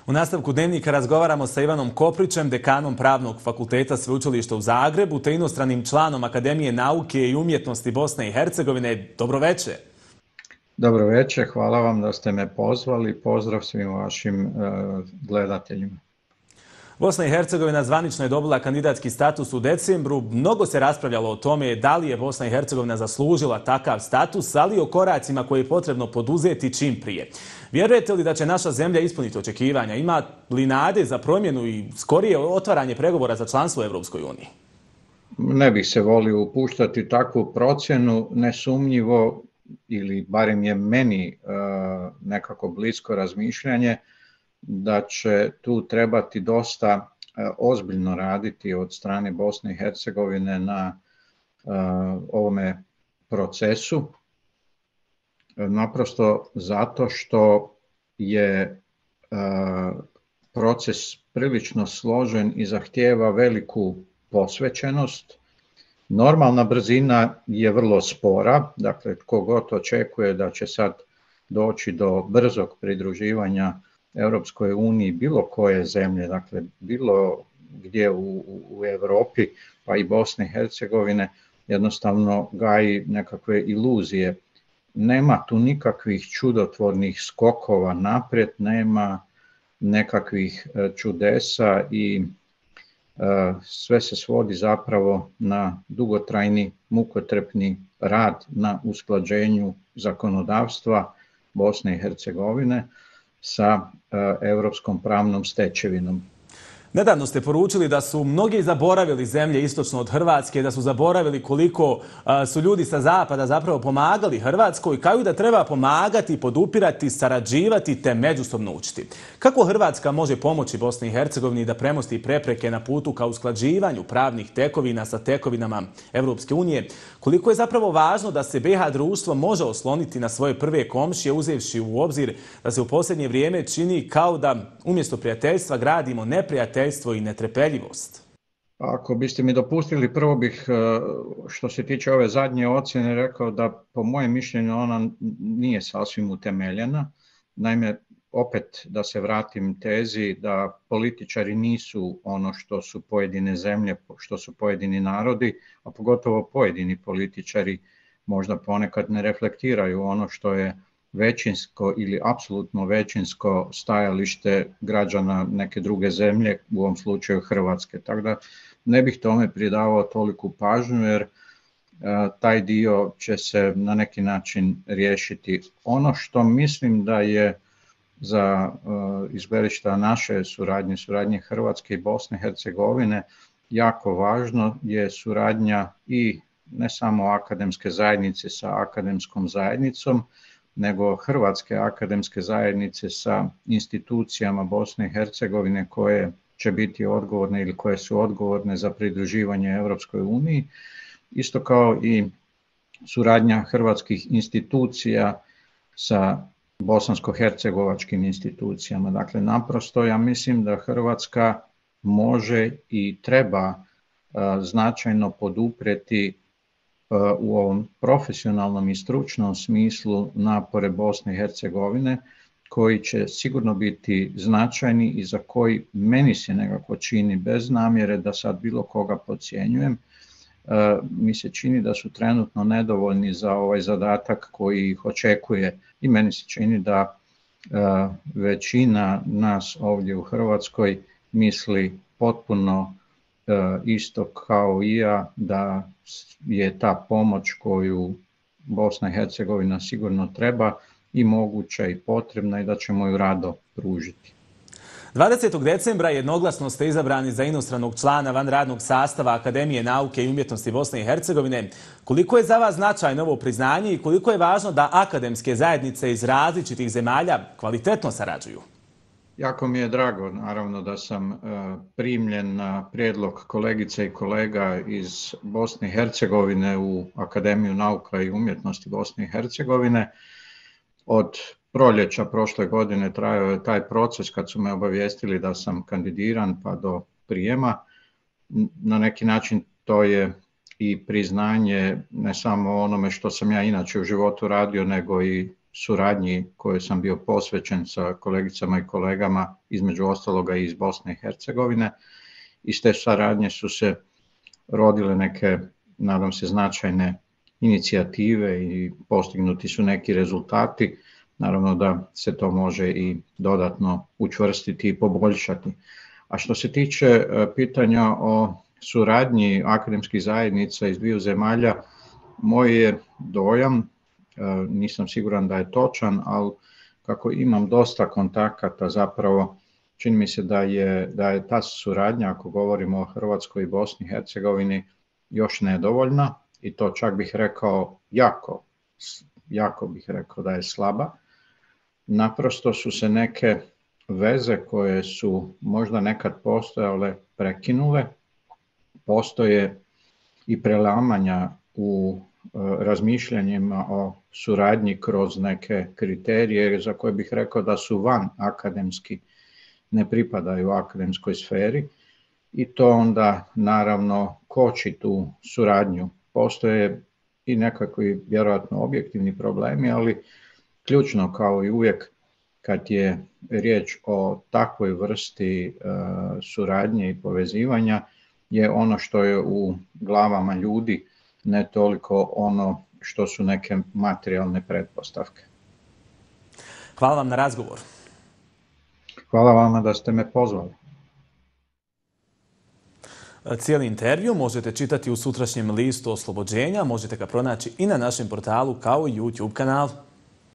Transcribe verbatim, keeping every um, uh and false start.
U nastavku Dnevnika razgovaramo sa Ivanom Koprićem, dekanom Pravnog fakulteta Sveučilišta u Zagrebu, te inostranim članom Akademije nauke i umjetnosti Bosne i Hercegovine. Dobro večer. Dobro večer, hvala vam da ste me pozvali. Pozdrav svim vašim uh, gledateljima. Bosna i Hercegovina zvanično je dobila kandidatski status u decembru. Mnogo se raspravljalo o tome da li je Bosna i Hercegovina zaslužila takav status, ali i o koracima koje je potrebno poduzeti čim prije. Vjerujete li da će naša zemlja ispuniti očekivanja? Ima li nade za promjenu i skorije otvaranje pregovora za članstvo u Europskoj uniji? Ne bih se volio upuštati takvu procjenu, nesumnjivo, ili barem je meni uh, nekako blisko razmišljanje, da će tu trebati dosta uh, ozbiljno raditi od strane Bosne i Hercegovine na uh, ovome procesu. Naprosto zato što je uh, proces prilično složen i zahtijeva veliku posvećenost. Normalna brzina je vrlo spora, dakle tko god očekuje da će sad doći do brzog pridruživanja Europskoj uniji bilo koje zemlje, dakle bilo gdje u, u Europi pa i Bosne i Hercegovine, jednostavno gaji nekakve iluzije. Nema tu nikakvih čudotvornih skokova naprijed, nema nekakvih čudesa i sve se svodi zapravo na dugotrajni, mukotrpni rad na usklađenju zakonodavstva Bosne i Hercegovine sa europskom pravnom stečevinom. Nedavno ste poručili da su mnogi zaboravili zemlje istočno od Hrvatske, da su zaboravili koliko su ljudi sa zapada zapravo pomagali Hrvatskoj, kao i da treba pomagati, podupirati, sarađivati te međusobno učiti. Kako Hrvatska može pomoći Bosni i Hercegovini da premosti prepreke na putu ka usklađivanju pravnih tekovina sa tekovinama Europske unije? Koliko je zapravo važno da se B iH društvo može osloniti na svoje prve komšije, uzevši u obzir da se u posljednje vrijeme čini kao da umjesto prijateljstva gradimo neprijateljstvo i netrpeljivost? Ako biste mi dopustili, prvo bih, što se tiče ove zadnje ocjene, rekao da po mojem mišljenju ona nije sasvim utemeljena. Naime, opet da se vratim tezi da političari nisu ono što su pojedine zemlje, što su pojedini narodi, a pogotovo pojedini političari možda ponekad ne reflektiraju ono što je većinsko ili apsolutno većinsko stajalište građana neke druge zemlje, u ovom slučaju Hrvatske. Tako da ne bih tome pridavao toliku pažnju jer a, taj dio će se na neki način riješiti. Ono što mislim da je za izberišta naše suradnje, suradnje Hrvatske i Bosne i Hercegovine jako važno je suradnja i ne samo akademske zajednice sa akademskom zajednicom, nego Hrvatske akademske zajednice sa institucijama Bosne i Hercegovine koje će biti odgovorne ili koje su odgovorne za pridruživanje Europskoj uniji, isto kao i suradnja hrvatskih institucija sa bosansko-hercegovačkim institucijama. Dakle, naprosto ja mislim da Hrvatska može i treba uh, značajno poduprijeti u ovom profesionalnom i stručnom smislu napore Bosne i Hercegovine, koji će sigurno biti značajni i za koji meni se nekako čini, bez namjere da sad bilo koga podcjenjujem, mi se čini da su trenutno nedovoljni za ovaj zadatak koji ih očekuje i meni se čini da većina nas ovdje u Hrvatskoj misli potpuno isto kao i ja, da je ta pomoć koju Bosna i Hercegovina sigurno treba i moguća i potrebna i da ćemo ju rado pružiti. dvadesetog decembra jednoglasno ste izabrani za inostranog člana vanradnog sastava Akademije nauke i umjetnosti Bosne i Hercegovine. Koliko je za vas značajno ovo priznanje i koliko je važno da akademske zajednice iz različitih zemalja kvalitetno sarađuju? Jako mi je drago, naravno, da sam primljen na prijedlog kolegice i kolega iz Bosne i Hercegovine u Akademiju nauka i umjetnosti Bosne i Hercegovine. Od proljeća prošle godine trajao je taj proces kad su me obavijestili da sam kandidiran pa do prijema. Na neki način to je i priznanje ne samo onome što sam ja inače u životu radio, nego i suradnji kojoj sam bio posvećen sa kolegicama i kolegama, između ostaloga i iz Bosne i Hercegovine. Iz te saradnje su se rodile neke, nadam se, značajne inicijative i postignuti su neki rezultati. Naravno da se to može i dodatno učvrstiti i poboljšati. A što se tiče pitanja o suradnji akademskih zajednica iz dviju zemalja, moj je dojam, nisam siguran da je točan, ali kako imam dosta kontakata, zapravo čini mi se da je, da je ta suradnja, ako govorimo o Hrvatskoj i Bosni i Hercegovini, još nedovoljna i to čak bih rekao jako, jako bih rekao da je slaba. Naprosto su se neke veze koje su možda nekad postojale prekinule, postoje i prelamanja u razmišljanjima o suradnji kroz neke kriterije za koje bih rekao da su van akademski, ne pripadaju akademskoj sferi i to onda naravno koči tu suradnju. Postoje i nekakvi vjerojatno objektivni problemi, ali ključno kao i uvijek kad je riječ o takvoj vrsti uh, suradnje i povezivanja je ono što je u glavama ljudi, ne toliko ono što su neke materijalne pretpostavke. Hvala vam na razgovor. Hvala vama da ste me pozvali. Cijeli intervju možete čitati u sutrašnjem listu Oslobođenja, možete ga pronaći i na našem portalu kao i YouTube kanalu.